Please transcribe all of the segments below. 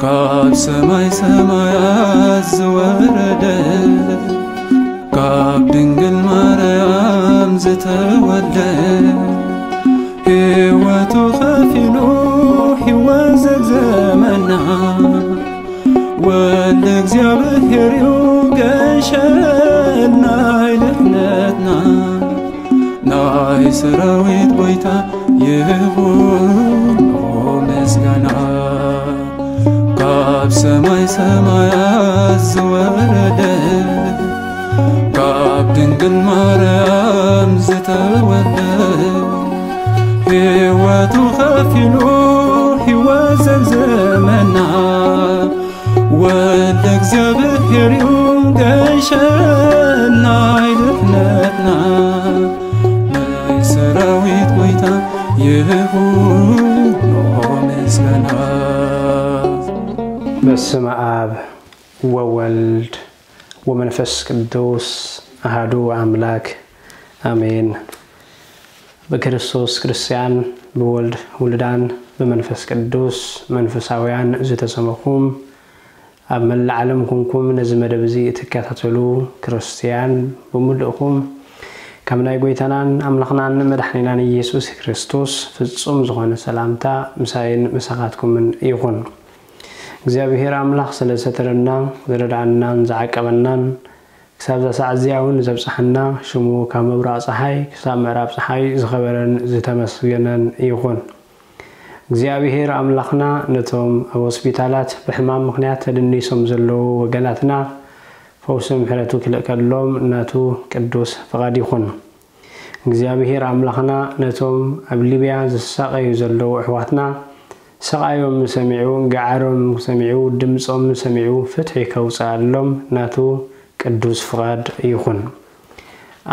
ካብ ሰማይ ሰማያት ዝወረደ፣ ካብ ድንግል ማርያም ዝተወልደ፣ ሕይወቱ ከፊሉ ሕይወት ዘግዘመና፣ ወልደ እግዚኣብሔር እዩ ገንሸል ናይ ድሕነትና። ናይ ሰራዊት ጎይታ ይኹኖ ምስጋና። ካብ ሰማይ ሰማያት ዝወረደ፣ ካብ ድንግል ማርያም ዝተወልደ፣ ሕይወቱ ከፊሉ ሕይወት ዘግዘመና፣ ወልደ እግዚኣብሔር እዩ ገንሸል ናይ ድሕነትና። ናይ ሰራዊት ጎይታ ይኹኖ ምስጋና። በስመ ኣብ ወወልድ ወመንፈስ ቅዱስ ኣሃዱ ኣምላክ ኣሜን። ብክርስቶስ ክርስትያን፣ ብወልድ ውሉዳን፣ ብመንፈስ ቅዱስ መንፈሳውያን ዝተሰመኹም፣ ኣብ መላእ ዓለም ኩንኩም ነዚ መደብ እዚ እትከታተሉ ክርስትያን ብምሉእኹም፣ ካብ ናይ ጎይታናን ኣምላኽናን መድሓኒናን ኢየሱስ ክርስቶስ ፍጹም ዝኾነ ሰላምታ ምሳይን ምሳኻትኩምን ይኹን። እግዚኣብሔር ኣምላኽ ስለ ዝተረና፣ ዝረድኣናን ዝዓቀበናን፣ ክሳብ እዛ ሰዓት እዚኣ እውን ዘብጽሓና፣ ሽሙ ካብ ምብራቕ ጸሓይ ክሳብ ምዕራብ ጸሓይ ዝኸበረን ዝተመስገነን ይኹን። እግዚኣብሔር ኣምላኽና ነቶም ኣብ ሆስፒታላት ብሕማም ምኽንያት ተደኒሶም ዘለዉ ወገናትና ፈውሲ ምሕረቱ ክልእከሎም ናቱ ቅዱስ ፍቓድ ይኹን። እግዚኣብሔር ኣምላኽና ነቶም ኣብ ሊብያ ዝሳቐዩ ዘለዉ ኣሕዋትና፣ ስቓዮም ሰሚዑ፣ ገዓሮም ሰሚዑ፣ ድምጾም ሰሚዑ፣ ፍትሒ ከውጽኣሎም ናቱ ቅዱስ ፍቓድ ይኹን።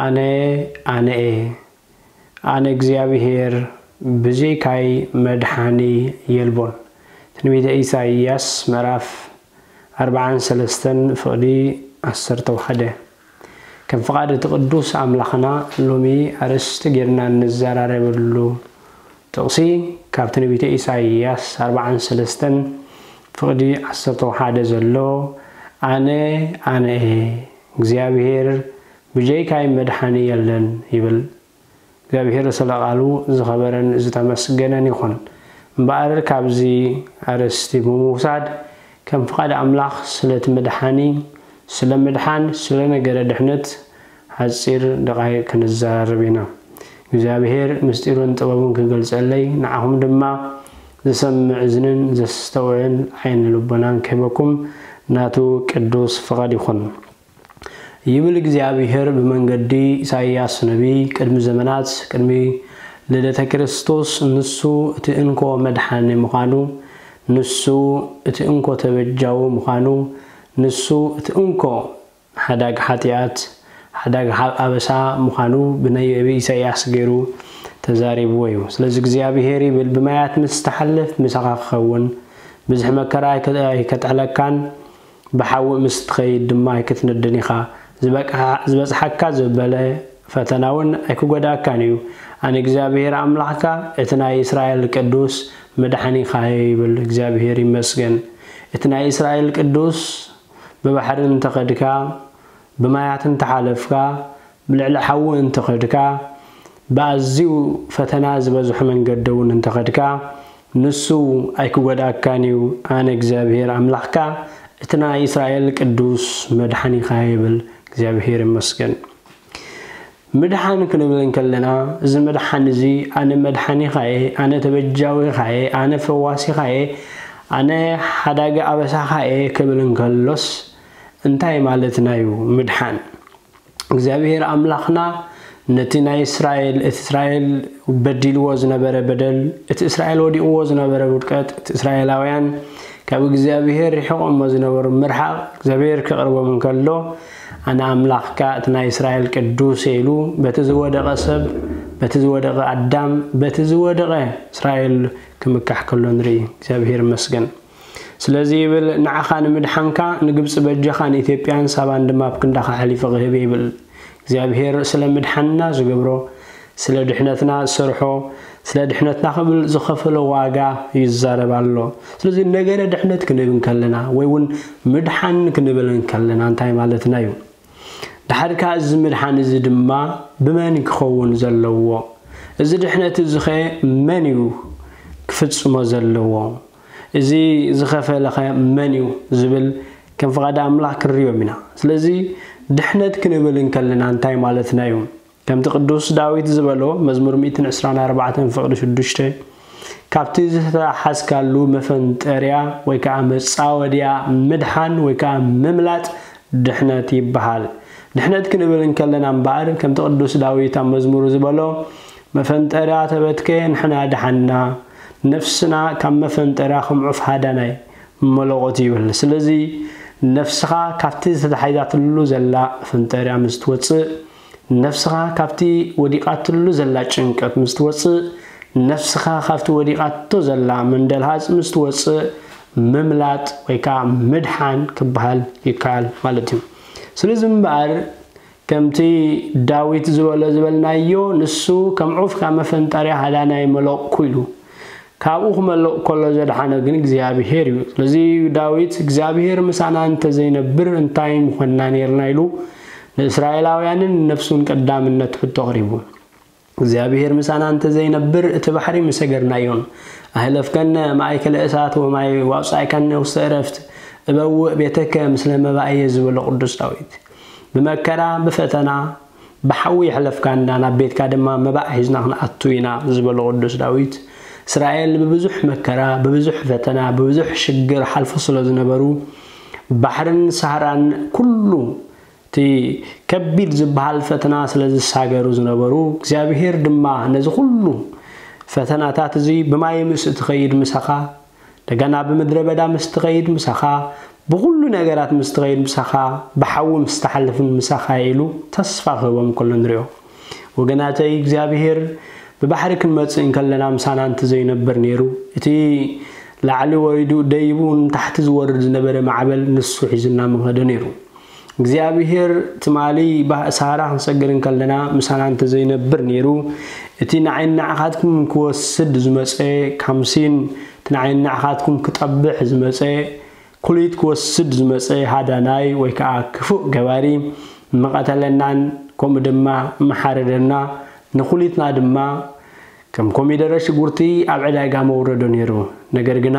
ኣነ፣ ኣነ እየ፣ ኣነ እግዚኣብሔር፣ ብዘይካይ መድሓኒ የልቦን። ትንቢተ ኢሳይያስ ምዕራፍ ኣርባዓን ሰለስተን ፍቕዲ ዓሰርተ ሓደ። ከም ፍቓድ እቲ ቅዱስ ኣምላኽና ሎሚ ኣርእስቲ ጌርና እንዘራረበሉ ጥቕሲ ካብ ትንቢተ ኢሳይያስ ኣርባዓን ሰለስተን ፍቕዲ ዓሰርተ ሓደ ዘሎ፣ ኣነ፣ ኣነ እየ፣ እግዚኣብሔር ብጀይካይ መድሓኒ የለን ይብል። እግዚኣብሔር ስለ ቃሉ ዝኸበረን ዝተመስገነን ይኹን። እምበኣር ካብዚ ኣርእስቲ ብምውሳድ ከም ፍቓድ ኣምላኽ ስለቲ መድሓኒ፣ ስለ ምድሓን፣ ስለ ነገረ ድሕነት ሓጺር ደቓይቕ ክንዘራረብ ኢና። እግዚኣብሔር ምስጢሩን ጥበቡን ክገልጸለይ፣ ንዓኹም ድማ ዝሰምዕ እዝንን ዘስተውዕል ዓይኒ ልቦናን ክህበኩም ናቱ ቅዱስ ፍቓድ ይኹን። ይብል እግዚኣብሔር ብመንገዲ ኢሳይያስ ነቢይ፣ ቅድሚ ዘመናት፣ ቅድሚ ልደተ ክርስቶስ፣ ንሱ እቲ እንኮ መድሓኒ ምዃኑ፣ ንሱ እቲ እንኮ ተበጃዊ ምዃኑ፣ ንሱ እቲ እንኮ ሓዳግ ሓጢኣት፣ ሓዳግ ሓ-፣ ኣበሳ ምዃኑ ብነቢ ኢሳይያስ ገይሩ ተዛሪብዎ እዩ። ስለዚ እግዚኣብሔር ይብል፣ ብማያት ምስ ትሓልፍ ምሳኻ ክኸውን፣ ብዝሒ መከራ ኣይከ-፣ ኣይከጥዕለካን፣ ብሓዊ ምስ ትኸይድ ድማ ኣይክትነድን ኢኻ። ዝበቅሓ-፣ ዝበጽሓካ ዘበለ ፈተና እውን ኣይክጎድኣካን እዩ። ኣነ እግዚኣብሔር ኣምላኽካ፣ እቲ ናይ እስራኤል ቅዱስ መድሓኒኻ እየ ይብል። እግዚኣብሔር ይመስገን። እቲ ናይ እስራኤል ቅዱስ ብባሕሪ እንተኸድካ፣ ብማያት እንተሓለፍካ፣ ብልዕሊ ሓዊ እንተኸድካ፣ ብኣዝዩ ፈተና ዝበዝሖ መንገዲ እውን እንተኸድካ፣ ንሱ ኣይክጎድኣካን እዩ። ኣነ እግዚኣብሔር ኣምላኽካ፣ እቲ ናይ እስራኤል ቅዱስ መድሓኒኻ ይብል። እግዚኣብሔር ይመስገን። ምድሓን ክንብል እንከለና፣ እዚ ምድሓን እዚ፣ ኣነ መድሓኒኻ እየ፣ ኣነ ተበጃዊኻ እየ፣ ኣነ ፈዋሲኻ እየ፣ ኣነ ሓዳጊ ኣበሳኻ እየ ክብል እንከሎስ፣ እንታይ ማለትና እዩ ምድሓን? እግዚኣብሔር ኣምላኽና ነቲ ናይ እስራኤል፣ እቲ እስራኤል በዲልዎ ዝነበረ በደል፣ እቲ እስራኤል ወዲቕዎ ዝነበረ ውድቀት፣ እቲ እስራኤላውያን ካብ እግዚኣብሔር ርሒቖሞ ዝነበሩ ምርሓቕ እግዚኣብሔር ክቕርቦም እንከሎ፣ ኣነ ኣምላኽካ እቲ ናይ እስራኤል ቅዱስ እየ ኢሉ በቲ ዝወደቐ ሰብ፣ በቲ ዝወደቐ ኣዳም፣ በቲ ዝወደቐ እስራኤል ክምካሕ ከሎ ንርኢ። እግዚኣብሔር ይመስገን። ስለዚ ይብል፣ ንዓኻ ንምድሓንካ ንግብጺ በጃኻ፣ ንኢትዮጵያን ሳባን ድማ ኣብ ክንዳኻ ኣሕሊፈ ክህብ እየ ይብል። እግዚኣብሔር ስለ ምድሓንና ዝገብሮ፣ ስለ ድሕነትና ዝሰርሖ፣ ስለ ድሕነትና ክብል ዝኸፈሎ ዋጋ ይዛረብ ኣሎ። ስለዚ ነገረ ድሕነት ክንብል እንከለና ወይ እውን ምድሓን ክንብል እንከለና እንታይ ማለትና እዩ? ድሓር ከኣ እዚ ምድሓን እዚ ድማ ብመን ክኸውን ዘለዎ? እዚ ድሕነት እዚ ኸ መን እዩ ክፍጽሞ ዘለዎ? እዚ ዝኸፈለ ኸ መን እዩ ዝብል ከም ፍቓድ ኣምላኽ ክንሪኦም ኢና። ስለዚ ድሕነት ክንብል እንከለና እንታይ ማለትና እዩ? ከምቲ ቅዱስ ዳዊት ዝበሎ መዝሙር ሚእትን ዕስራን ኣርባዕተን ፍቕዲ ሽዱሽተ፣ ካብቲ ዝተሓዝካሉ መፈንጠርያ ወይ ከዓ መጻወድያ ምድሓን ወይ ከዓ ምምላጥ ድሕነት ይበሃል። ድሕነት ክንብል እንከለና እምበኣር ከምቲ ቅዱስ ዳዊት ኣብ መዝሙሩ ዝበሎ መፈንጠርያ ተበትከ ንሕና ደሓንና፣ ነፍስና ካብ መፈንጠርያ ከም ዑፍ ሃዳናይ መለቖት ይብል። ስለዚ ነፍስኻ ካብቲ ዝተታሒዛትሉ ዘላ መፈንጠርያ ምስ ትወፅእ፣ ነፍስኻ ካብቲ ወዲቓትሉ ዘላ ጭንቀት ምስ ትወፅእ፣ ነፍስኻ ካብቲ ወዲቓቶ ዘላ መንደልሃፅ ምስ ትወፅእ፣ ምምላጥ ወይ ከዓ ምድሓን ክበሃል ይከኣል ማለት እዩ። ስለዚ እምበኣር ከምቲ ዳዊት ዝበሎ ዝበልናዮ፣ ንሱ ከም ዑፍ ካብ መፈንጠርያ ሃዳናይ መለቕኩ ኢሉ። ካብኡ ክመልቕ ከሎ ዘድሓኖ ግን እግዚኣብሄር እዩ። ስለዚ ዳዊት እግዚኣብሄር ምሳና እንተዘይነብር እንታይ ምኾንና ኔርና ኢሉ ንእስራኤላውያንን ንነፍሱን ቀዳምነት ሕቶ ኣቕሪቡ። እግዚኣብሄር ምሳና እንተዘይነብር እቲ ባሕሪ ምሰገርናዮን። ኣህለፍከነ ማእከለ እሳት ወማይ ወኣውጻእካነ ውስተ ዕረፍት እበውእ ቤተከ ምስለ መባእየ ዝበሎ ቅዱስ ዳዊት። ብመከራ ብፈተና ብሓዊ የሕለፍካና ናብ ቤትካ ድማ መባእ ሒዝና ክንኣቱ ኢና ዝበሎ ቅዱስ ዳዊት። እስራኤል ብብዙሕ መከራ ብብዙሕ ፈተና ብብዙሕ ሽግር ሓልፉ ስለ ዝነበሩ ባሕርን ሳህራን ኩሉ እቲ ከቢድ ዝበሃል ፈተና ስለ ዝሳገሩ ዝነበሩ እግዚኣብሄር ድማ ነዚ ኩሉ ፈተናታት እዚ ብማይ ምስ እትኸይድ ምሳኻ ደገና ብምድረ በዳ ምስ ትኸይድ ምሳኻ ብኹሉ ነገራት ምስ ትኸይድ ምሳኻ ብሓዊ ምስ ትሓልፍን ምሳኻ ኢሉ ተስፋ ክህቦም ከሎ ንሪኦ። ወገናተይ እግዚኣብሄር ብባሕሪ ክንመጽእ እንከለና ምሳና እንተዘይነብር ነይሩ እቲ ላዕሊ ወሪዱ ደይቡ ንታሕቲ ዝወርድ ዝነበረ ማዕበል ንሱ ሒዙና ምኸደ ነይሩ። እግዚኣብሄር ትማሊ ሳራ ክንሰግር እንከለና ምሳና እንተዘይነብር ነይሩ እቲ ንዓይን ንዓኻትኩም ክወስድ ዝመፀ ካምሲን እቲ ንዓይን ንዓኻትኩም ክጠብሕ ዝመፀ ኩሊት ክወስድ ዝመፀ ሃዳናይ ወይ ከዓ ክፉእ ገባሪ መቐተለናን ከምኡ ድማ መሓረደና ንኩሊትና ድማ ከም ኮሚደረ ሽጉርቲ ኣብ ዕዳጋ መውረዶ ነይሩ። ነገር ግና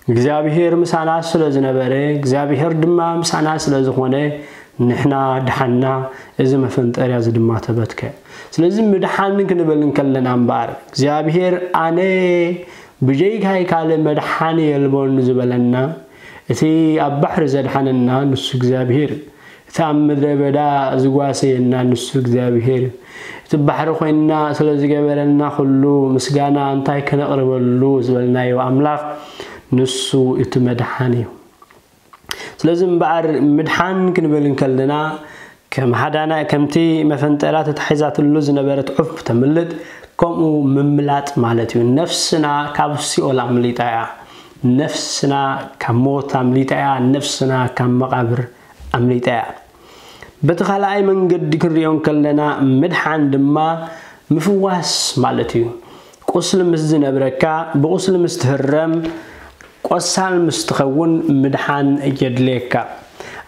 እግዚኣብሄር ምሳና ስለ ዝነበረ እግዚኣብሄር ድማ ምሳና ስለ ዝኾነ ንሕና ድሓና እዚ መፈንጠርያ እዚ ድማ ተበትከ። ስለዚ ምድሓን ክንብል እንከለና እምበኣር እግዚኣብሄር ኣነ ብጀይካይ ካልእ መድሓኒ የልቦን ዝበለና እቲ ኣብ ባሕሪ ዘድሓነና ንሱ እግዚኣብሄር እቲ ኣብ ምድረ በዳ ዝጓሰየና ንሱ እግዚኣብሄር እዩ። እቲ ባሕሪ ኮይንና ስለ ዝገበረልና ኩሉ ምስጋና እንታይ ከነቕርበሉ ዝበልናዮ ኣምላኽ ንሱ እቲ መድሓን እዩ። ስለዚ እምበኣር ምድሓን ክንብል እንከለና ከም ሓዳና ከምቲ መፈንጠራ ተታሒዛትሉ ዝነበረት ዑፍ ተምልጥ ከምኡ ምምላጥ ማለት እዩ። ነፍስና ካብ ሲኦል ኣምሊጣ እያ። ነፍስና ካብ ሞት ኣምሊጣ እያ። ነፍስና ካብ መቓብር ኣምሊጣ እያ። በቲ ካልኣይ መንገዲ ክንሪኦ እንከለና ምድሓን ድማ ምፍዋስ ማለት እዩ። ቁስሊ ምስ ዝነብረካ ብቁስሊ ምስ ትህረም ቆሳል ምስ ትኸውን ምድሓን የድልየካ።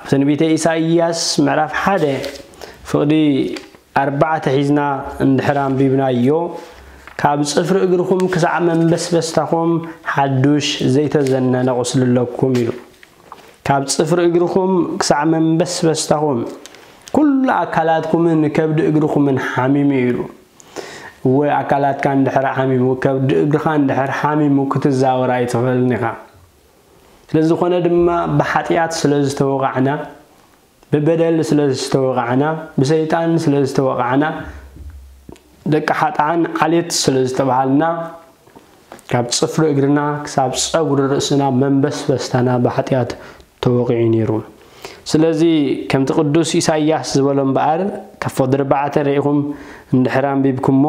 ኣብ ትንቢተ ኢሳይያስ ምዕራፍ ሓደ ፍቕዲ ኣርባዕተ ሒዝና እንድሕር ኣንቢብናዮ ካብ ጽፍሪ እግርኹም ክሳዕ መንበስበስታኹም ሓዱሽ ዘይተዘነነ ቁስሊ ኣለኩም ኢሉ። ካብ ጽፍሪ እግርኹም ክሳዕ መንበስበስታኹም ኩሉ ኣካላትኩምን ከብዲ እግርኹምን ሓሚሙ ኢሉ። እወ ኣካላትካ እንድሕር ሓሚሙ ከብዲ እግርኻ እንድሕር ሓሚሙ ክትዛወር ኣይትኽእልን ኢኻ። ስለዝኾነ ድማ ብሓጢኣት ስለ ዝተወቓዕና ብበደል ስለ ዝተወቓዕና ብሰይጣን ስለ ዝተወቓዕና ደቂ ሓጥኣን ዓሌት ስለ ዝተባሃልና ካብ ጽፍሪ እግርና ክሳብ ጸጉሪ ርእስና መንበስበስታና ብሓጢኣት ተወቒዑ ነይሩ። ስለዚ ከምቲ ቅዱስ ኢሳይያስ ዝበሎ እምበኣር ካብ ፍቕዲ ኣርባዕተ ርኢኹም እንድሕር ኣንቢብኩሞ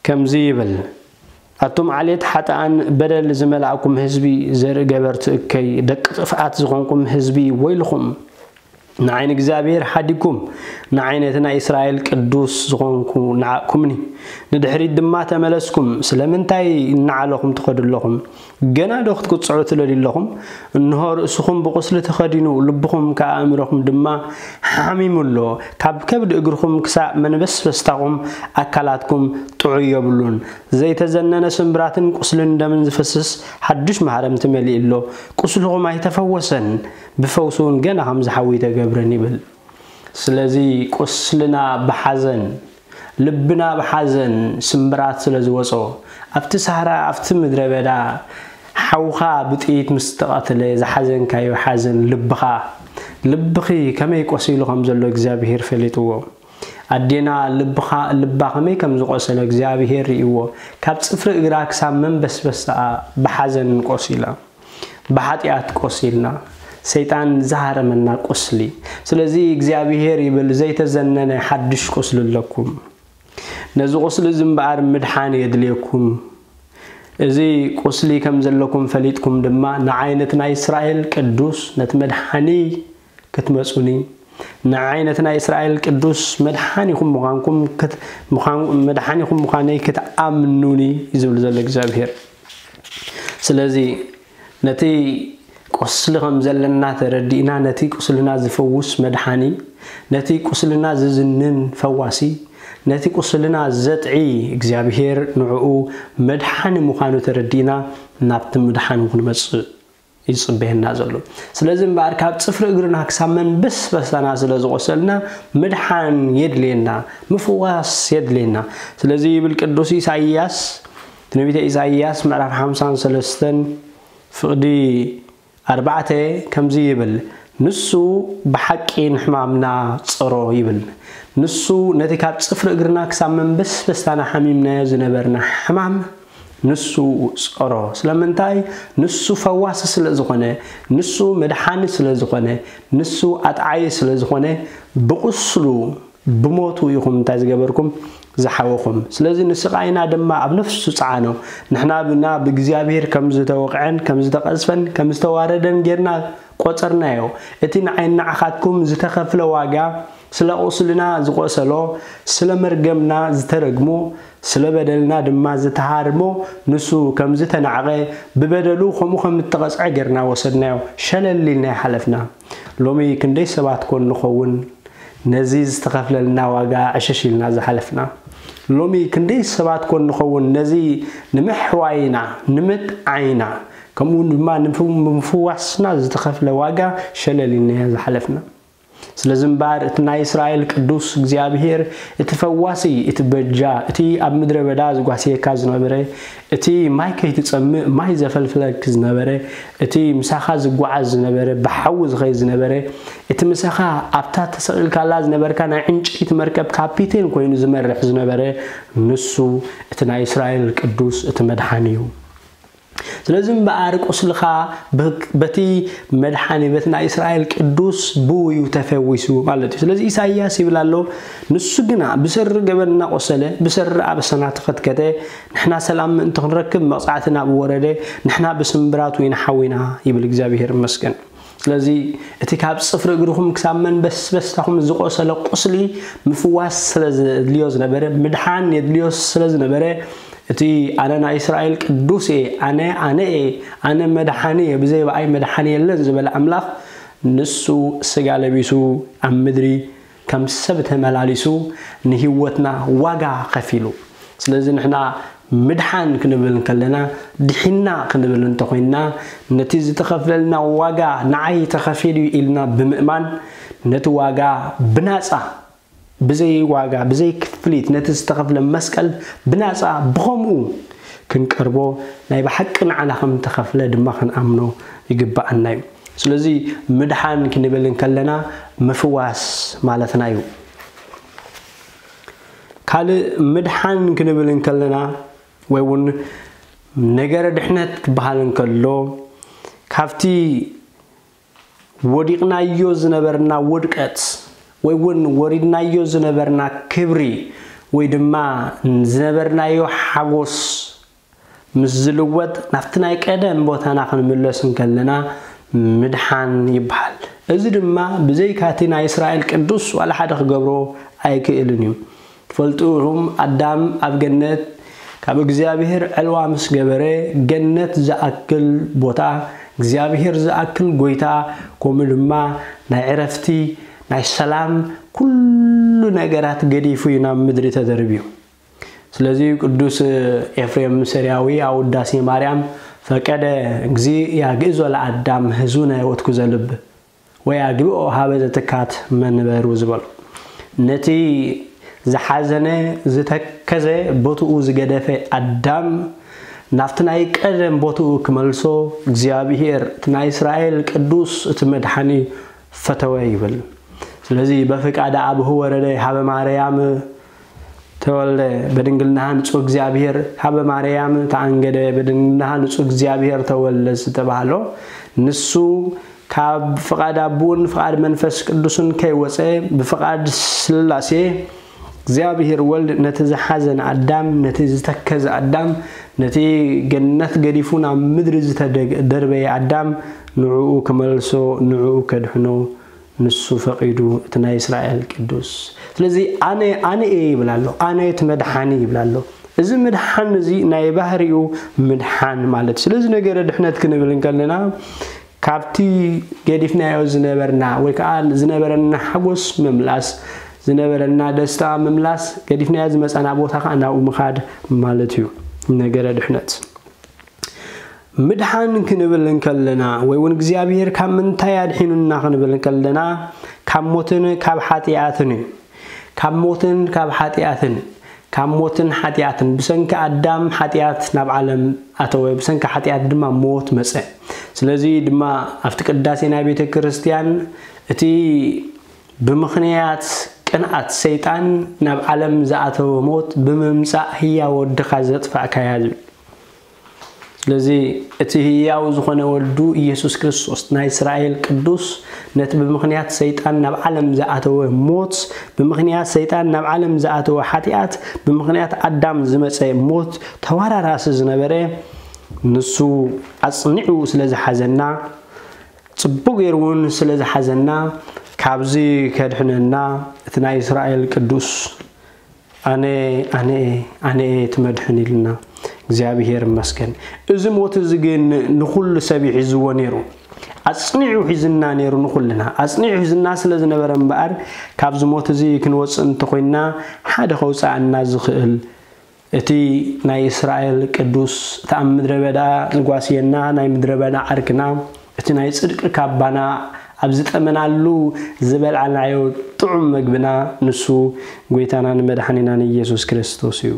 ከምዚ ይብል፣ ኣቱም ዓሌት ሓጥኣን በደል ዝመላእኩም ህዝቢ ዘርኢ ገበርቲ እከይ ደቂ ጥፍኣት ዝኾንኩም ህዝቢ ወይልኹም። ንዓይ ንእግዚኣብሔር ሓዲግኩም፣ ንዓይ ነቲ ናይ እስራኤል ቅዱስ ዝኾንኩ ነዓቕኩምኒ። ንድሕሪት ድማ ተመለስኩም። ስለምንታይ እናዓለኹም ትኸዱ ኣለኹም? ገና ዶ ክትቅጽዑ ትደልዩ ኣለኹም? እንሆ ርእስኹም ብቁስሊ ተኸዲኑ፣ ልብኹም ከኣ ኣእምሮኹም ድማ ሓሚሙ ኣሎ። ካብ ከብዲ እግርኹም ክሳብ መንበስበስታኹም ኣካላትኩም ጥዑይ የብሉን። ዘይተዘነነ ስምብራትን ቁስልን ደምን ዝፈስስ ሓድሽ ማህረምቲ መሊኡ ኣሎ። ቁስልኹም ኣይተፈወሰን፣ ብፈውሲ እውን ገና ከም ዝሓዊ ተገብረን ይብል። ስለዚ ቁስልና ብሓዘን፣ ልብና ብሓዘን ስምብራት ስለ ዝወጾ፣ ኣብቲ ሳህራ፣ ኣብቲ ምድረ በዳ ሓውኻ ብጥይት ምስ ተቐትለ ዝሓዘንካዮ ሓዘን ልብኻ፣ ልብኺ ከመይ ቆሲሉ ከም ዘሎ እግዚኣብሄር ፈሊጥዎ። ኣዴና ልብኻ፣ ልባ ከመይ ከም ዝቆሰለ እግዚኣብሄር ርእይዎ። ካብ ጽፍሪ እግራ ክሳብ መንበስበስኣ ብሓዘን ቆሲላ። ብሓጢኣት ቆሲልና፣ ሰይጣን ዝሃረመና ቁስሊ። ስለዚ እግዚኣብሄር ይብል፣ ዘይተዘነነ ሓድሽ ቁስሊ ኣለኩም። ነዚ ቁስሊ እዚ እምበኣር ምድሓን የድልየኩም። እዚ ቁስሊ ከም ዘለኩም ፈሊጥኩም ድማ ንዓይ ነቲ ናይ እስራኤል ቅዱስ ነቲ መድሓኒ ክትመጹኒ፣ ንዓይ ነቲ ናይ እስራኤል ቅዱስ መድሓኒኹም ምዃንኩም ክት-፣ ምዃን-፣ መድሓኒኹም ምዃነይ ክትኣምኑኒ እዩ ዝብል ዘሎ እግዚኣብሄር። ስለዚ ነቲ ቁስሊ ከም ዘለና ተረዲእና፣ ነቲ ቁስልና ዝፈውስ መድሓኒ፣ ነቲ ቁስልና ዝዝንን ፈዋሲ፣ ነቲ ቁስልና ዘጥዒ እግዚኣብሄር ንዕኡ መድሓኒ ምዃኑ ተረዲእና ናብቲ ምድሓን ክንመጽእ ይጽበየና ዘሎ። ስለዚ እምበኣር ካብ ጽፍሪ እግርና ክሳብ መንበስበስታና ስለ ዝቆሰልና ምድሓን የድልየና፣ ምፍዋስ የድልየና። ስለዚ ይብል ቅዱስ ኢሳይያስ፣ ትንቢተ ኢሳይያስ ምዕራፍ ሓምሳን ሰለስተን ፍቕዲ ኣርባዕተ ከምዚ ይብል፣ "ንሱ ብሓቂ ንሕማምና ጸሮ" ይብል። ንሱ ነቲ ካብ ጽፍሪ እግርና ክሳብ መንበስበስታና ሓሚምናዮ ዝነበርና ሕማም ንሱ ጸሮ። ስለምንታይ? ንሱ ፈዋሲ ስለ ዝኾነ፣ ንሱ መድሓኒ ስለ ዝኾነ፣ ንሱ ኣጥዓይ ስለ ዝኾነ፣ ብቁስሉ፣ ብሞቱ ኢኹም እንታይ ዝገበርኩም? ዝሓወኹም። ስለዚ ንስቓይና ድማ ኣብ ነፍሱ ጸዓኖ። ንሕና ብና ብእግዚኣብሔር ከም ዝተወቕዐን ከም ዝተቐዝፈን ከም ዝተዋረደን ጌርና ቆጸርናዮ። እቲ ንዓይ ንዓኻትኩም ዝተኸፍለ ዋጋ፣ ስለ ቁስልና ዝቆሰሎ፣ ስለ መርገምና ዝተረግሞ፣ ስለ በደልና ድማ ዝተሃርሞ፣ ንሱ ከም ዝተናዕቐ፣ ብበደሉ ከምኡ ከም እተቐጽዐ ጌርና ወሰድናዮ። ሸለል ኢልና ይሓለፍና። ሎሚ ክንደይ ሰባት ኮን ንኸውን ነዚ ዝተኸፍለልና ዋጋ ዕሽሽ ኢልና ዝሓለፍና? ሎሚ ክንደይ ሰባት ኮን ንኸውን ነዚ ንምሕዋይና፣ ንምጥዓይና፣ ከምኡ ድማ ንምፍ-፣ ንምፍዋስና ዝተኸፍለ ዋጋ ሸለል ኢልና ዝሓለፍና? ስለዚ እምበኣር እቲ ናይ እስራኤል ቅዱስ እግዚኣብሔር፣ እቲ ፈዋሲ፣ እቲ በጃ፣ እቲ ኣብ ምድረ በዳ ዝጓስየካ ዝነበረ፣ እቲ ማይ ከይትጸምእ ማይ ዘፈልፍለክ ዝነበረ፣ እቲ ምሳኻ ዝጓዓዝ ዝነበረ፣ ብሓዊ ዝኸይድ ዝነበረ፣ እቲ ምሳኻ ኣብታ ተሰቒልካላ ዝነበርካ ናይ ዕንጨይቲ መርከብ ካፒቴን ኮይኑ ዝመርሕ ዝነበረ፣ ንሱ እቲ ናይ እስራኤል ቅዱስ፣ እቲ መድሓኒ እዩ። ስለዚ እምበኣር ቁስልኻ ብ-፣ በቲ መድሓኒ፣ በቲ ናይ እስራኤል ቅዱስ ብኡ እዩ ተፈዊሱ ማለት እዩ። ስለዚ ኢሳይያስ ይብል ኣሎ፣ ንሱ ግና ብሰሪ ገበንና ቆሰለ፣ ብሰሪ ኣበሳና ተኸትከተ፣ ንሕና ሰላም ምእንቲ ክንረክብ መቕጻዕቲ ናብኡ ወረደ፣ ንሕና ብስምብራቱ ኢና ሓዊና ይብል። እግዚኣብሔር ይመስገን። ስለዚ እቲ ካብ ጽፍሪ እግርኹም ክሳብ መንበስበስታኹም ዝቆሰለ ቁስሊ ምፍዋስ ስለ ዘድልዮ ዝነበረ፣ ምድሓን የድልዮ ስለ ዝነበረ፣ እቲ ኣነ ናይ እስራኤል ቅዱስ እየ፣ ኣነ፣ ኣነ እየ፣ ኣነ መድሓኒ እየ፣ ብዘይ ብኣይ መድሓኒ የለን ዝበለ ኣምላኽ፣ ንሱ ስጋ ለቢሱ ኣብ ምድሪ ከም ሰብ ተመላሊሱ ንህይወትና ዋጋ ከፊሉ። ስለዚ ንሕና ምድሓን ክንብል እንከለና፣ ድሒና ክንብል እንተኾይንና፣ ነቲ ዝተኸፍለልና ዋጋ ንዓይ ተኸፊሉ ኢልና ብምእማን፣ ነቲ ዋጋ ብናጻ፣ ብዘይ ዋጋ፣ ብዘይ ክፍሊት፣ ነቲ ዝተኸፍለ መስቀል ብናጻ ብኸምኡ ክንቀርቦ፣ ናይ ብሓቂ ንዓና ከም ተኸፍለ ድማ ክንኣምኖ ይግብኣና እዩ። ስለዚ ምድሓን ክንብል እንከለና ምፍዋስ ማለትና እዩ። ካልእ ምድሓን ክንብል እንከለና ወይ እውን ነገረ ድሕነት ክበሃል እንከሎ ካብቲ ወዲቕናዮ ዝነበርና ውድቀት ወይ እውን ወሪድናዮ ዝነበርና ክብሪ ወይ ድማ ዝነበርናዮ ሓጎስ ምስ ዝልወጥ ናብቲ ናይ ቀደም ቦታና ክንምለስ እንከለና ምድሓን ይበሃል። እዚ ድማ ብዘይካቲ ናይ እስራኤል ቅዱስ ዋላ ሓደ ክገብሮ ኣይክእልን እዩ። ትፈልጡ ኢኹም፣ ኣዳም ኣብ ገነት ካብ እግዚኣብሔር ዕልዋ ምስ ገበረ፣ ገነት ዝኣክል ቦታ፣ እግዚኣብሔር ዝኣክል ጎይታ፣ ከምኡ ድማ ናይ ዕረፍቲ፣ ናይ ሰላም፣ ኩሉ ነገራት ገዲፉ እዩ ናብ ምድሪ ተደርብዩ። ስለዚ ቅዱስ ኤፍሬም ሰሪያዊ ኣብ ውዳሴ ማርያም፣ ፈቀደ እግዚእ ያግእዞ ለአዳም ህዙነ ወትኩዘ ልብ፣ ወይ ኣግብኦ ሀበ ዘትካት መንበሩ ዝበሎ፣ ነቲ ዝሓዘነ ዝተከዘ ቦትኡ ዝገደፈ ኣዳም ናብቲ ናይ ቀደም ቦትኡ ክመልሶ እግዚኣብሔር እቲ ናይ እስራኤል ቅዱስ እቲ መድሓኒ ፈተወ ይብል። ስለዚ በፍቃደ አቡሁ ወረደ ሀበ ማርያም ተወልደ በድንግልናሃ ንጹህ እግዚኣብሔር ሀበ ማርያም ተኣንገደ በድንግልናሃ ንጹህ እግዚኣብሔር ተወልደ ዝተባህሎ ንሱ ካብ ፍቓድ ኣቡን ፍቓድ መንፈስ ቅዱስን ከይወፀ ብፍቓድ ስላሴ እግዚኣብሔር ወልድ ነቲ ዝሓዘን ኣዳም ነቲ ዝተከዘ ኣዳም ነቲ ገነት ገዲፉ ናብ ምድሪ ዝተደርበየ ኣዳም ንዕኡ ክመልሶ ንዕኡ ከድሕኖ ንሱ ፈቒዱ እቲ ናይ እስራኤል ቅዱስ። ስለዚ ኣነ ኣነ እየ ይብል ኣሎ፣ ኣነ እቲ መድሓኒ ይብል ኣሎ። እዚ ምድሓን እዚ ናይ ባህሪኡ ምድሓን ማለት እዩ። ስለዚ ነገረ ድሕነት ክንብል እንከለና ካብቲ ገዲፍናዮ ዝነበርና ወይ ከዓ ዝነበረና ሓጎስ ምምላስ፣ ዝነበረና ደስታ ምምላስ፣ ገዲፍናዮ ዝመፃና ቦታ ከዓ ናብኡ ምኻድ ማለት እዩ ነገረ ድሕነት። ምድሓን ክንብል እንከለና ወይ እውን እግዚኣብሔር ካብ ምንታይ ኣድሒኑና ክንብል እንከለና ካብ ሞትን ካብ ሓጢኣትን እዩ። ካብ ሞትን ካብ ሓጢኣትን ካብ ሞትን ሓጢኣትን ብሰንኪ ኣዳም ሓጢኣት ናብ ዓለም ኣተወ፣ ብሰንኪ ሓጢኣት ድማ ሞት መፀ። ስለዚ ድማ ኣብቲ ቅዳሴ ናይ ቤተ ክርስቲያን እቲ ብምኽንያት ቅንኣት ሰይጣን ናብ ዓለም ዝኣተወ ሞት ብምምፃእ ህያው ወድኻ ዘጥፋእካያ ዝብል። ስለዚ እቲ ህያው ዝኾነ ወዱ ኢየሱስ ክርስቶስ ናይ እስራኤል ቅዱስ ነቲ ብምኽንያት ሰይጣን ናብ ዓለም ዝኣተወ ሞት፣ ብምኽንያት ሰይጣን ናብ ዓለም ዝኣተወ ሓጢኣት፣ ብምኽንያት ኣዳም ዝመፀ ሞት ተወራራሲ ዝነበረ ንሱ ኣፅኒዑ ስለ ዝሓዘና፣ ፅቡቅ ገይሩ እውን ስለ ዝሓዘና ካብዚ ከድሕነና እቲ ናይ እስራኤል ቅዱስ ኣነ ኣነ ኣነ እየ እቲ መድሕን ኢልና እግዚኣብሔር ይመስገን። እዚ ሞት እዚ ግን ንኹሉ ሰብ እዩ ሒዝዎ ነይሩ። ኣፅኒዑ ሒዝና ነይሩ ንኹልና። ኣፅኒዑ ሒዝና ስለ ዝነበረ እምበኣር ካብዚ ሞት እዚ ክንወፅእ እንተኮይንና ሓደ ከውፅኣና ዝኽእል እቲ ናይ እስራኤል ቅዱስ፣ እቲ ኣብ ምድረ በዳ ዝጓስየና ናይ ምድረ በዳ ዓርክና፣ እቲ ናይ ጽድቂ ካባና ኣብ ዝጠመናሉ ዝበልዓናዮ ጥዑም መግብና፣ ንሱ ጐይታናን መድሓኒናን ኢየሱስ ክርስቶስ እዩ።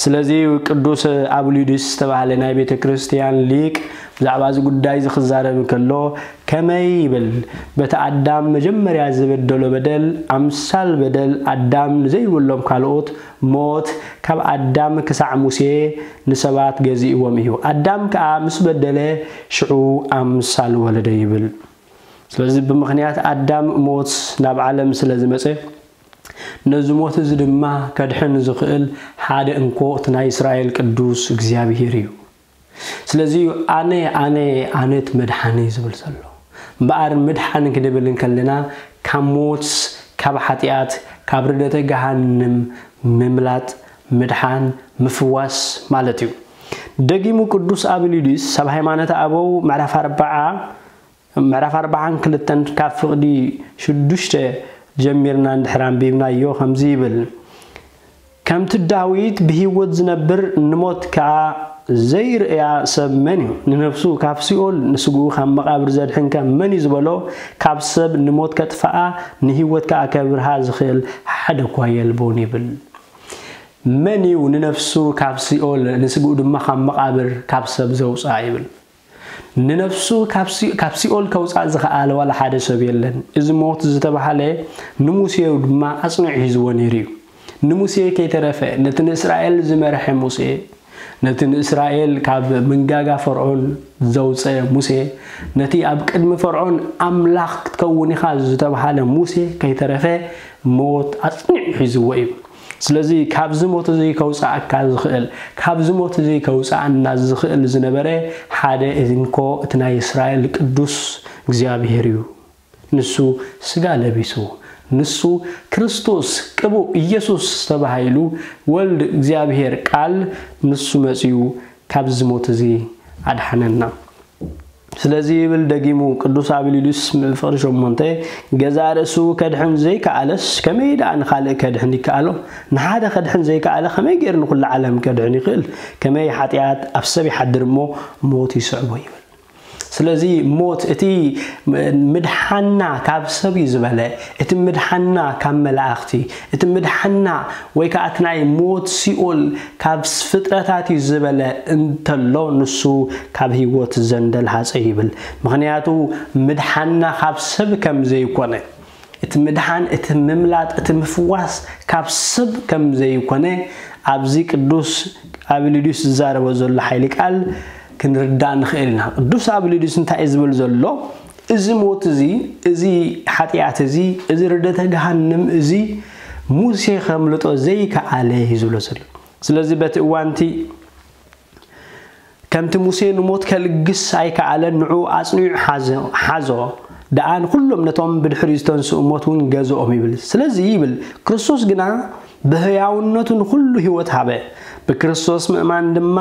ስለዚ ቅዱስ ኣብሊዲስ ዝተባህለ ናይ ቤተ ክርስቲያን ሊቅ ብዛዕባ እዚ ጉዳይ እዚ ክዛረብ እንከሎ፣ ከመይ ይብል፣ በቲ ኣዳም መጀመርያ ዝበደሎ በደል፣ ኣምሳል በደል ኣዳም ንዘይብሎም ካልኦት ሞት ካብ ኣዳም ክሳዕ ሙሴ ንሰባት ገዚእዎም እዩ። ኣዳም ከኣ ምስ በደለ፣ ሽዑ ኣምሳል ወለደ ይብል። ስለዚ ብምኽንያት ኣዳም ሞት ናብ ዓለም ስለ ዝመጸ፣ ነዚ ሞት እዚ ድማ ከድሕን ዝኽእል ሓደ እንኮ እቲ ናይ እስራኤል ቅዱስ እግዚኣብሔር እዩ። ስለዚ እዩ ኣነ ኣነ ኣነ እቲ መድሓኒ ዝብል ዘሎ። እምበኣር ምድሓን ክንብል እንከለና ካብ ሞት፣ ካብ ሓጢኣት፣ ካብ ርደተ ገሃንም ምምላጥ፣ ምድሓን፣ ምፍዋስ ማለት እዩ። ደጊሙ ቅዱስ ኣብሊዲስ ኣብ ሃይማኖተ ኣበው ምዕራፍ ኣርብዓ ምዕራፍ ኣርብዓን ክልተን ካብ ፍቕዲ ሽዱሽተ ጀሚርና እንድሕር ኣንቢብናዮ ከምዚ ይብል፣ ከምቲ ዳዊት ብህይወት ዝነብር ንሞት ከኣ ዘይርእያ ሰብ መን እዩ? ንነፍሱ ካብ ሲኦል ንስግኡ ካብ መቓብር ዘድሕንከ መን እዩ ዝበሎ? ካብ ሰብ ንሞት ከጥፍኣ ንህይወት ከኣ ከብርሃ ዝኽእል ሓደ እኳ የልቦን ይብል። መን እዩ ንነፍሱ ካብ ሲኦል ንስግኡ ድማ ካብ መቓብር ካብ ሰብ ዘውፅኣ ይብል? ንነፍሱ ካብ ሲ- ካብ ሲኦል ከውፅኣ ዝኸኣለ ዋላ ሓደ ሰብ የለን። እዚ ሞት ዝተባህለ ንሙሴ ድማ ኣፅኒዑ ሒዝዎ ነይሩ እዩ። ንሙሴ ከይተረፈ ነቲ ንእስራኤል ዝመርሐ ሙሴ፣ ነቲ ንእስራኤል ካብ መንጋጋ ፈርዖን ዘውፀ ሙሴ፣ ነቲ ኣብ ቅድሚ ፈርዖን ኣምላኽ ክትከውን ኢኻ ዝተባህለ ሙሴ ከይተረፈ ሞት ኣፅኒዑ ሒዝዎ እዩ። ስለዚ ካብዚ ሞት እዚ ከውፅኣካ ዝኽእል፣ ካብዚ ሞት እዚ ከውፅኣና ዝኽእል ዝነበረ ሓደ እንኮ እቲ ናይ እስራኤል ቅዱስ እግዚኣብሔር እዩ። ንሱ ስጋ ለቢሱ፣ ንሱ ክርስቶስ ቅቡእ ኢየሱስ ተባሂሉ፣ ወልድ እግዚኣብሔር ቃል ንሱ መጺኡ ካብዚ ሞት እዚ ኣድሓነና። ስለዚ ይብል ደጊሙ ቅዱስ ኣቢሊዱስ ፍቕሪ ሸሞንተ፣ ገዛእ ርእሱ ከድሕን ዘይከኣለስ ከመይ ደኣ ንኻልእ ከድሕን ይከኣሎ? ንሓደ ከድሕን ዘይከኣለ ከመይ ገይሩ ንኹሉ ዓለም ከድሕን ይኽእል? ከመይ ሓጢኣት ኣብ ሰብ ይሓድር እሞ ሞት ይስዕቦ ይብል። ስለዚ ሞት እቲ ምድሓና ካብ ሰብ እዩ ዝበለ፣ እቲ ምድሓና ካብ መላእኽቲ፣ እቲ ምድሓና ወይ ከዓ እቲ ናይ ሞት ሲኦል ካብ ፍጥረታት እዩ ዝበለ እንተሎ ንሱ ካብ ህይወት ዘንደልሃፀ ይብል። ምኽንያቱ ምድሓና ካብ ሰብ ከም ዘይኮነ፣ እቲ ምድሓን፣ እቲ ምምላጥ፣ እቲ ምፍዋስ ካብ ሰብ ከም ዘይኮነ ኣብዚ ቅዱስ ኣቢሊዱስ ዝዛረቦ ዘሎ ሓይሊ ቃል ክንርዳእ ንኽእል ኢና። ቅዱስ ኣቢሊዱስ እንታይ እዩ ዝብል ዘሎ? እዚ ሞት እዚ፣ እዚ ሓጢኣት እዚ፣ እዚ ርደተ ገሃንም እዚ ሙሴ ከምልጦ ዘይከኣለ እዩ ዝብሎ ዘሎ። ስለዚ በቲ እዋንቲ ከምቲ ሙሴ ንሞት ከልግስ ኣይከኣለን፣ ንዑ ኣጽኒዑ ሓዘ-፣ ሓዞ ደኣ ንኹሎም ነቶም ብድሕሪኡ ዝተንስኡ ሞት እውን ገዝኦም ይብል። ስለዚ ይብል፣ ክርስቶስ ግና ብህያውነቱ ንኹሉ ህይወት ሃበ። ብክርስቶስ ምእማን ድማ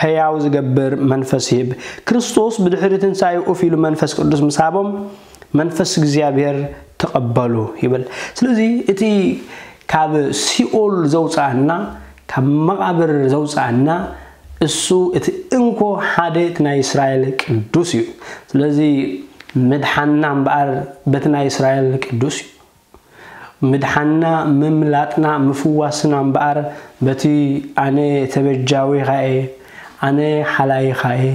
ህያው ዝገብር መንፈስ ይህብ። ክርስቶስ ብድሕሪ ትንሳኤ ኡፍ ኢሉ መንፈስ ቅዱስ ምስ ሃቦም፣ መንፈስ እግዚኣብሔር ተቐበሉ ይብል። ስለዚ እቲ ካብ ሲኦል ዘውፅኣና፣ ካብ መቓብር ዘውፅኣና እሱ እቲ እንኮ ሓደ እቲ ናይ እስራኤል ቅዱስ እዩ። ስለዚ ምድሓንና እምበኣር በቲ ናይ እስራኤል ቅዱስ እዩ። ምድሓንና፣ ምምላጥና፣ ምፍዋስና እምበኣር በቲ ኣነ ተበጃዊኻ እየ፣ ኣነ ሓላይኻ እየ፣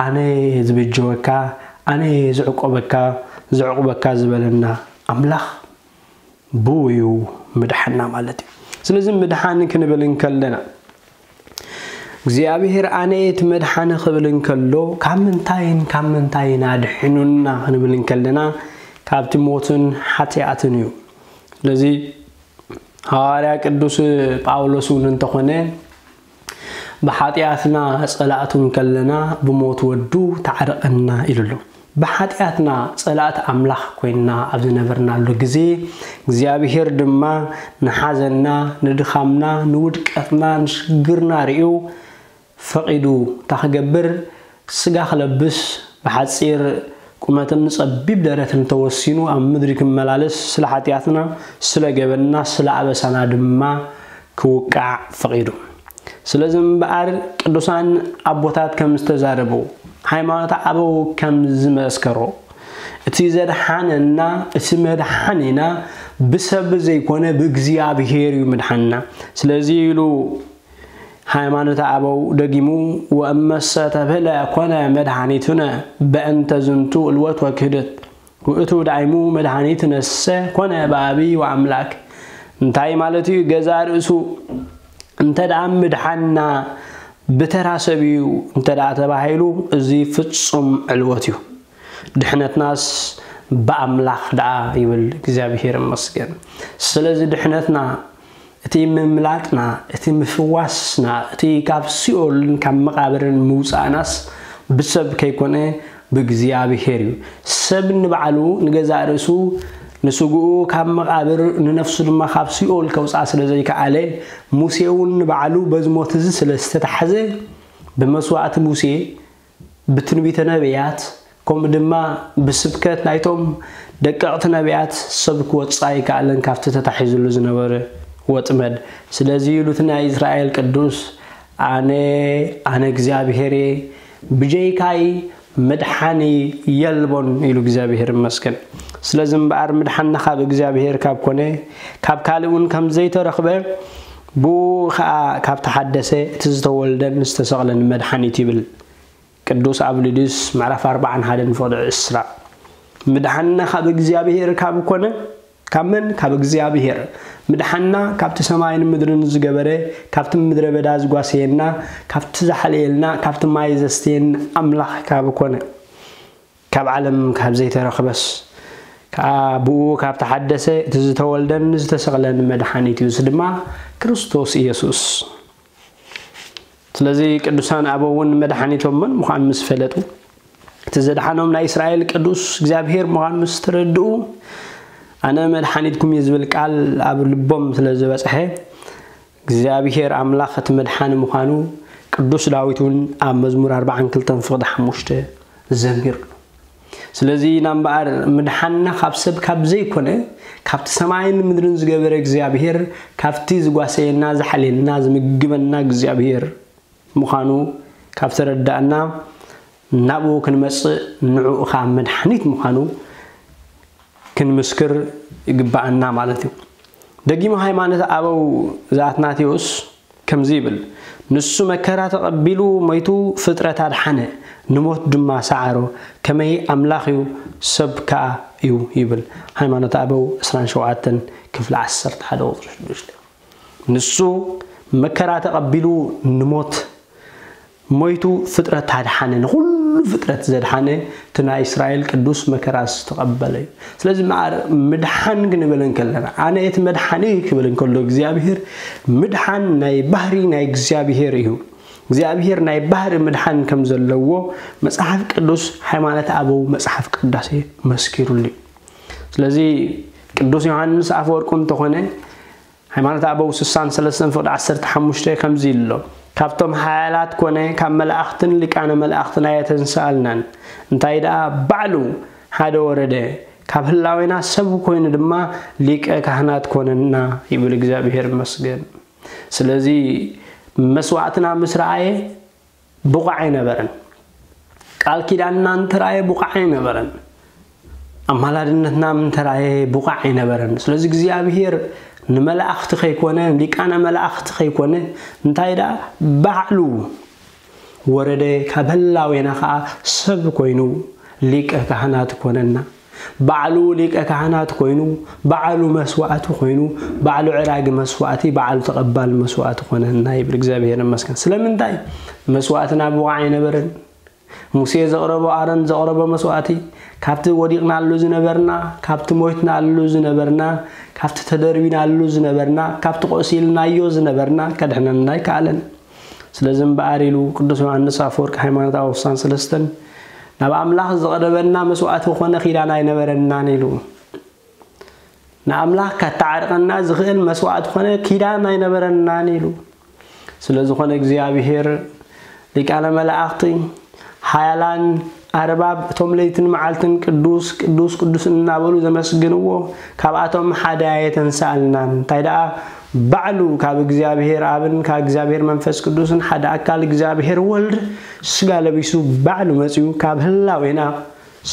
ኣነ ዝብጀወካ፣ ኣነ ዝዕቆበካ፣ ዝዕቁበካ ዝበለና ኣምላኽ ብኡ እዩ ምድሓንና ማለት እዩ። ስለዚ ምድሓን ክንብል እንከለና እግዚኣብሔር ኣነ እቲ መድሓኒ ክብል እንከሎ ካብ ምንታይን ካብ ምንታይን ኣድሒኑና ክንብል እንከለና ካብቲ ሞትን ሓጢኣትን እዩ። ስለዚ ሃዋርያ ቅዱስ ጳውሎስ እውን እንተኾነ ብሓጢኣትና ጸላእቱ እንከለና ብሞት ወዱ ተዓረቐና ኢሉ ኣሎ። ብሓጢኣትና ጸላእቲ ኣምላኽ ኮይንና ኣብ ዝነበርናሉ ግዜ እግዚኣብሔር ድማ ንሓዘንና፣ ንድኻምና፣ ንውድቀትና፣ ንሽግርና ርእዩ ፈቒዱ እንታይ ክገብር? ስጋ ክለብስ ብሓጺር ቁመትን ጸቢብ ደረትን ተወሲኑ ኣብ ምድሪ ክመላለስ ስለ ሓጢኣትና፣ ስለ ገበንና፣ ስለ ኣበሳና ድማ ክውቃዕ ፈቒዱ። ስለዚ እምበኣር ቅዱሳን ኣቦታት ከም ዝተዛረቡ፣ ሃይማኖት ኣበው ከም ዝመስከሮ፣ እቲ ዘድሓነና፣ እቲ መድሓኒና ብሰብ ዘይኮነ ብእግዚኣብሔር እዩ ምድሓንና። ስለዚ ኢሉ ሃይማኖት ኣበው ደጊሙ፣ "ወእመሰ ተብህለ ኮነ መድኃኒትነ በእንተ ዝንቱ እልወት ወክህደት ውእቱ ዳይሙ መድኃኒትነሰ ኮነ በአቢ ወአምላክ።" እንታይ ማለት እዩ? ገዛ ርእሱ እንተ ደኣ ምድሓንና ብተራ ሰብ እዩ እንተ ደኣ ተባሂሉ፣ እዚ ፍጹም ዕልወት እዩ። ድሕነትናስ ብኣምላኽ ደኣ ይብል። እግዚኣብሔር ይመስገን። ስለዚ ድሕነትና፣ እቲ ምምላጥና፣ እቲ ምፍዋስና፣ እቲ ካብ ሲኦልን ካብ መቓብርን ምውጻእናስ ብሰብ ከይኮነ ብእግዚኣብሔር እዩ። ሰብ ንባዕሉ ንገዛእ ርእሱ ንስግኡ ካብ መቓብር ንነፍሱ ድማ ካብ ሲኦል ከውጽኣ ስለ ዘይከኣለ፣ ሙሴ እውን ንባዕሉ በዚ ሞት እዚ ስለ ዝተታሕዘ፣ ብመስዋእቲ ሙሴ፣ ብትንቢተ ነቢያት፣ ከምኡ ድማ ብስብከት ናይቶም ደቀቕቲ ነቢያት ሰብ ክወጽእ ኣይከኣለን ካብቲ ተታሒዙሉ ዝነበረ ወጥመድ። ስለዚ ኢሉ እቲ ናይ እስራኤል ቅዱስ፣ "ኣነ፣ ኣነ እግዚኣብሔር እየ፣ ብጀይካይ መድሓኒ የልቦን" ኢሉ። እግዚኣብሔር ይመስገን። ስለዚ እምበኣር ምድሓንና ካብ እግዚኣብሔር ካብ ኮነ፣ ካብ ካልእ እውን ከም ዘይተረኽበ፣ ብኡ ኸኣ ካብ ተሓደሰ፣ እቲ ዝተወልደን ዝተሰቕለን መድሓኒት ይብል። ቅዱስ ኣብሊዲስ ምዕራፍ ኣርባዓን ሓደን ፍቕዲ ዕስራ። ምድሓንና ካብ እግዚኣብሔር ካብ ኮነ፣ ካብ መን? ካብ እግዚኣብሔር። ምድሓንና ካብቲ ሰማይን ምድርን ዝገበረ፣ ካብቲ ምድረ በዳ ዝጓሰየና፣ ካብቲ ዝሓለየልና፣ ካብቲ ማይ ዘስተየና ኣምላኽ ካብ ኮነ፣ ካብ ዓለም ካብ ዘይተረኽበስ፣ ከኣ ብኡ ካብ ተሓደሰ፣ እቲ ዝተወልደን ዝተሰቕለን መድሓኒት እዩ። እዚ ድማ ክርስቶስ ኢየሱስ። ስለዚ ቅዱሳን ኣበው እውን መድሓኒቶም መን ምዃኑ ምስ ፈለጡ፣ እቲ ዘድሓኖም ናይ እስራኤል ቅዱስ እግዚኣብሔር ምዃኑ ምስ ተረድኡ፣ ኣነ መድሓኒትኩም እየ ዝብል ቃል ኣብ ልቦም ስለ ዝበጽሐ፣ እግዚኣብሔር ኣምላኽ እቲ መድሓኒ ምዃኑ ቅዱስ ዳዊት እውን ኣብ መዝሙር ኣርባዓን ክልተን ፍቕዲ ሓሙሽተ ዘሚርሉ። ስለዚ ኢና እምበኣር ምድሓንና ካብ ሰብ ካብ ዘይኮነ፣ ካብቲ ሰማይን ምድርን ዝገበረ እግዚኣብሔር፣ ካብቲ ዝጓሰየና፣ ዝሓልየልና፣ ዝምግበና እግዚኣብሔር ምዃኑ ካብ ተረዳእና፣ ናብኡ ክንመጽእ፣ ንዕኡ ኸኣ መድሓኒት ምዃኑ ክንምስክር ይግብኣና ማለት እዩ። ደጊሙ ሃይማኖት ኣበው ዘኣትናቴዎስ ከምዚ ይብል፣ "ንሱ መከራ ተቐቢሉ ሞይቱ ፍጥረት ኣድሓነ፣ ንሞት ድማ ሰዓሮ፣ ከመይ ኣምላኽ እዩ ሰብ ከኣ እዩ" ይብል። ሃይማኖት ኣበው ዕስራን ሸውዓተን ክፍሊ ዓሰርተ ሓደ ቁጽሪ ሽዱሽተ። ንሱ መከራ ተቐቢሉ ንሞት ሞይቱ ፍጥረት ኣድሓነ፣ ንኹሉ ፍጥረት ዘድሓነ እቲ ናይ እስራኤል ቅዱስ መከራ ዝተቐበለ እዩ። ስለዚ እምበኣር ምድሓን ክንብል እንከለና፣ ኣነ እቲ መድሓኒ ክብል እንከሎ እግዚኣብሔር፣ ምድሓን ናይ ባህሪ ናይ እግዚኣብሔር እዩ። እግዚኣብሔር ናይ ባህሪ ምድሓን ከም ዘለዎ መጽሓፍ ቅዱስ፣ ሃይማኖት ኣበው፣ መጽሓፍ ቅዳሴ መስኪሩሉ እዩ። ስለዚ ቅዱስ ዮሃንስ ኣፈወርቁ እንተኾነ፣ ሃይማኖት ኣበው ስሳን ሰለስተን ፍቕዲ ዓሰርተ ሓሙሽተ ከምዚ ኢሉ ኣሎ፣ "ካብቶም ሓያላት ኮነ ካብ መላእኽትን ሊቃነ መላእኽትን ኣየተንስኣልናን፣ እንታይ ደኣ ባዕሉ ሓደ ወረደ፣ ካብ ህላዌና ሰብ ኮይኑ ድማ ሊቀ ካህናት ኮነና" ይብል። እግዚኣብሔር ይመስገን። ስለዚ መስዋእትና ምስ ረኣየ ብቑዕ ኣይነበረን። ቃል ኪዳንና እንተረኣየ ብቑዕ ኣይነበረን። ኣማላድነትና እንተረኣየ ብቑዕ ኣይነበረን። ስለዚ እግዚኣብሔር ንመላእኽቲ ከይኮነ፣ ሊቃነ መላእኽቲ ከይኮነ፣ እንታይ ደኣ ባዕሉ ወረደ፣ ካብ ህላዌና ኸኣ ሰብ ኮይኑ ሊቀ ካህናት ኮነና። ባዕሉ ሊቀ ካህናት ኮይኑ፣ ባዕሉ መስዋእቲ ኮይኑ፣ ባዕሉ ዕራጊ መስዋእቲ፣ ባዕሉ ተቐባሊ መስዋእቲ ኮነና ይብል። እግዚኣብሔር ይመስገን። ስለምንታይ? መስዋእትና ብቑዕ ኣይነበረን። ሙሴ ዘቕረቦ፣ ኣሮን ዘቕረቦ መስዋእቲ፣ ካብቲ ወዲቕናሉ ዝነበርና፣ ካብቲ ሞይትናሉ ዝነበርና፣ ካብቲ ተደርቢናሉ ዝነበርና፣ ካብቲ ቆሲልናዮ ዝነበርና ከድሕነና ኣይከኣለን። ስለዚ እምበኣር ኢሉ ቅዱስ ዮሃንስ ኣፈወርቅ ሃይማኖት ኣበው ስሳን ሰለስተን፣ "ናብ ኣምላኽ ዘቕረበና መስዋእቲ ኮነ ኪዳን ኣይነበረናን" ኢሉ። ንኣምላኽ ካተዓርቐና ዝኽእል መስዋእቲ ኮነ ኪዳን ኣይነበረናን ኢሉ። ስለ ዝኾነ እግዚኣብሔር ሊቃነ መላእኽቲ፣ ሓያላን ኣርባብ፣ እቶም ለይትን መዓልትን ቅዱስ፣ ቅዱስ፣ ቅዱስ እናበሉ ዘመስግንዎ፣ ካብኣቶም ሓደ ኣየተንስኣልናን። እንታይ ደኣ ባዕሉ ካብ እግዚኣብሔር ኣብን ካብ እግዚኣብሔር መንፈስ ቅዱስን ሓደ ኣካል እግዚኣብሔር ወልድ ስጋ ለቢሱ ባዕሉ መጺኡ ካብ ህላዌና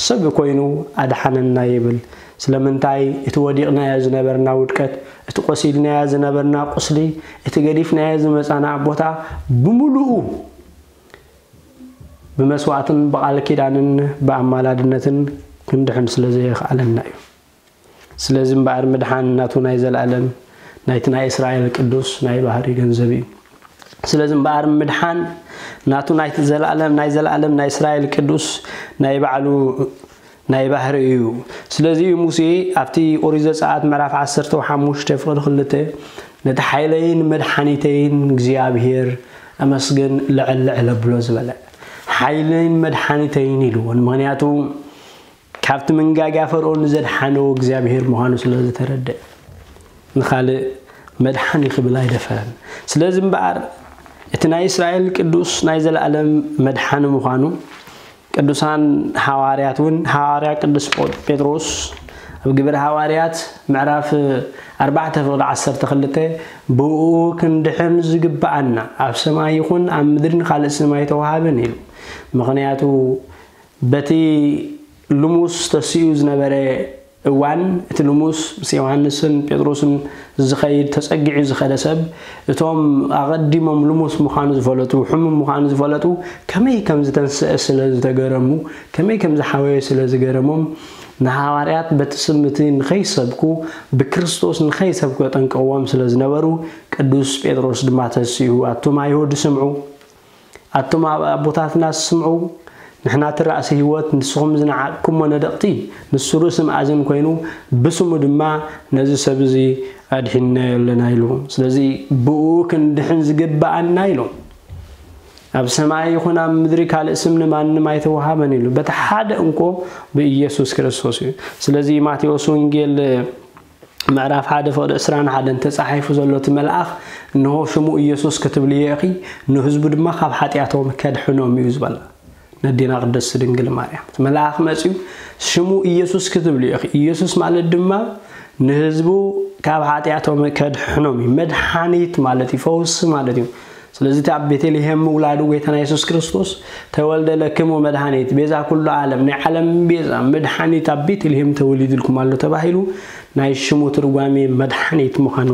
ሰብ ኮይኑ ኣድሓነና ይብል። ስለምንታይ? እቲ ወዲቕናዮ ዝነበርና ውድቀት፣ እቲ ቆሲልናዮ ዝነበርና ቁስሊ፣ እቲ ገዲፍናዮ ዝመጻና ቦታ ብምሉኡ ብመስዋእትን ብቓል ኪዳንን ብኣማላድነትን ክንድሕን ስለ ዘየኽኣለና እዩ። ስለዚ እምበኣር ምድሓን ናቱ ናይ ዘለኣለም ናይቲ ናይ እስራኤል ቅዱስ ናይ ባህሪ ገንዘብ እዩ። ስለዚ እምበኣር ምድሓን ናቱ ናይቲ ዘለኣለም ናይ ዘለኣለም ናይ እስራኤል ቅዱስ ናይ ባዕሉ ናይ ባህሪ እዩ። ስለዚ እዩ ሙሴ ኣብቲ ኦሪት ዘጸኣት ምዕራፍ ዓሰርተ ሓሙሽተ ፍቕዲ ክልተ፣ "ነቲ ሓይለይን መድሓኒተይን እግዚኣብሔር ኣመስግን ልዕል ልዕል ኣብሎ" ዝበለ። ሓይለይን መድሓኒተይን ኢልዎ። ምኽንያቱ ካብቲ መንጋጋ ፈርኦን ዘድሓኖ እግዚኣብሔር ምዃኑ ስለ ዝተረድአ፣ ንኻልእ መድሓኒ ክብል ኣይደፈረን። ስለዚ እምበኣር እቲ ናይ እስራኤል ቅዱስ ናይ ዘለኣለም መድሓኒ ምዃኑ ቅዱሳን ሃዋርያት እውን፣ ሃዋርያ ቅዱስ ጴ-፣ ጴጥሮስ ኣብ ግብረ ሃዋርያት ምዕራፍ ኣርባዕተ ፍቕዲ ዓሰርተ ክልተ፣ "ብእኡ ክንድሕን ዝግብኣና ኣብ ሰማይ ይኹን ኣብ ምድሪ ካልእ ስም ኣይተዋሃበን" ኢሉ። ምኽንያቱ በቲ ልሙስ ተሲኡ ዝነበረ እዋን፣ እቲ ልሙስ ምስ ዮሃንስን ጴጥሮስን ዝኸይድ፣ ተጸጊዑ ዝኸደ ሰብ፣ እቶም ኣቐዲሞም ልሙስ ምዃኑ ዝፈለጡ፣ ሕሙም ምዃኑ ዝፈለጡ፣ ከመይ ከም ዝተንስአ ስለ ዝተገረሙ፣ ከመይ ከም ዝሓወየ ስለ ዝገረሞም፣ ንሃዋርያት በቲ ስም እቲ ንኸይሰብኩ፣ ብክርስቶስ ንኸይሰብኩ የጠንቅቕዎም ስለ ዝነበሩ፣ ቅዱስ ጴጥሮስ ድማ ተሲኡ፣ "ኣቱም ኣይሁድ ስምዑ፣ ኣቱም ኣብ ኣቦታትና ስምዑ፣ ንሕና እቲ ራእሲ ህይወት፣ ንስኹም ዝነዓቕኩሞ ነደቕቲ፣ ንሱ ርእሲ መኣዝን ኮይኑ፣ ብስሙ ድማ ነዚ ሰብ እዚ ኣድሒንናዮ ኣለና" ኢሉ። ስለዚ ብኡ ክንድሕን ዝግብኣና ኢሉ። ኣብ ሰማይ ይኹን ኣብ ምድሪ ካልእ ስም ንማንም ኣይተወሃበን ኢሉ። በቲ ሓደ እንኮ ብኢየሱስ ክርስቶስ እዩ። ስለዚ ማቴዎስ ወንጌል ምዕራፍ ሓደ ፍቕዲ ዕስራን ሓደን ተጻሒፉ ዘሎ እቲ መልኣኽ፣ "እንሆ ሽሙ ኢየሱስ ክትብልዮ ኢኺ፣ ንህዝቡ ድማ ካብ ሓጢኣቶም ከድሕኖም እዩ" ዝበላ ነዴና ቅድስት ድንግል ማርያም። እቲ መልኣኽ መጺኡ "ሽሙ ኢየሱስ ክትብልዮ ኢኺ"፣ ኢየሱስ ማለት ድማ ንህዝቡ ካብ ሓጢኣቶም ከድሕኖም እዩ። መድሓኒት ማለት እዩ፣ ፈውሲ ማለት እዩ። ስለዚ እቲ ኣብ ቤተልሔም ምውላዱ ጎይታና የሱስ ክርስቶስ፣ "ተወልደ ለክሙ መድሓኒት ቤዛ ኩሉ ዓለም"፣ ናይ ዓለም ቤዛ መድሓኒት ኣብ ቤተልሔም ተወሊዱልኩም ኣሎ ተባሂሉ ናይ ሽሙ ትርጓሜ መድሓኒት ምዃኑ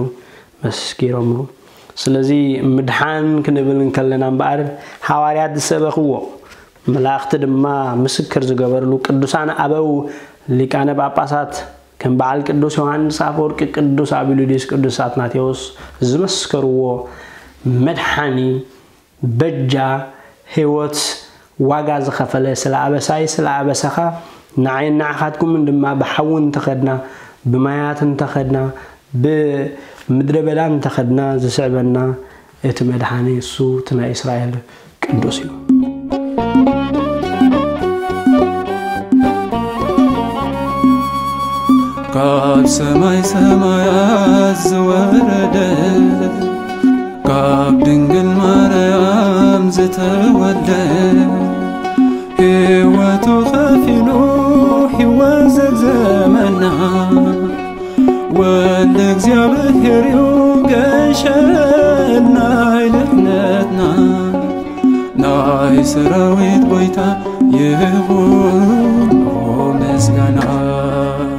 መስኪሮምሉ። ስለዚ ምድሓን ክንብል እንከለና እምበኣር፣ ሃዋርያት ዝሰበኽዎ፣ መላእኽቲ ድማ ምስክር ዝገበርሉ፣ ቅዱሳን ኣበው ሊቃነ ጳጳሳት ከም በዓል ቅዱስ ዮሃንስ ኣፈወርቂ፣ ቅዱስ ኣቢሉዲስ፣ ቅዱስ ኣትናቴዎስ ዝመስከርዎ መድሓኒ፣ በጃ፣ ህይወት ዋጋ ዝኸፈለ፣ ስለ ኣበሳይ ስለ ኣበሳኻ፣ ንዓይን ንዓኻትኩምን ድማ ብሓዊ እንተኸድና፣ ብማያት እንተኸድና፣ ብምድረ በዳ እንተኸድና ዝስዕበና እቲ መድሓኒ እሱ እቲ ናይ እስራኤል ቅዱስ እዩ። ካብ ሰማይ ሰማያት ዝወረደ፣ ካብ ድንግል ማርያም ዝተወልደ፣ ህይወቱ ከፊሉ ህይወት ዘግዘመና፣ ወልደ እግዚኣብሔር እዩ ገንሸል ናይ ድሕነትና። ናይ ሰራዊት ጎይታ ይኹን ምስጋና።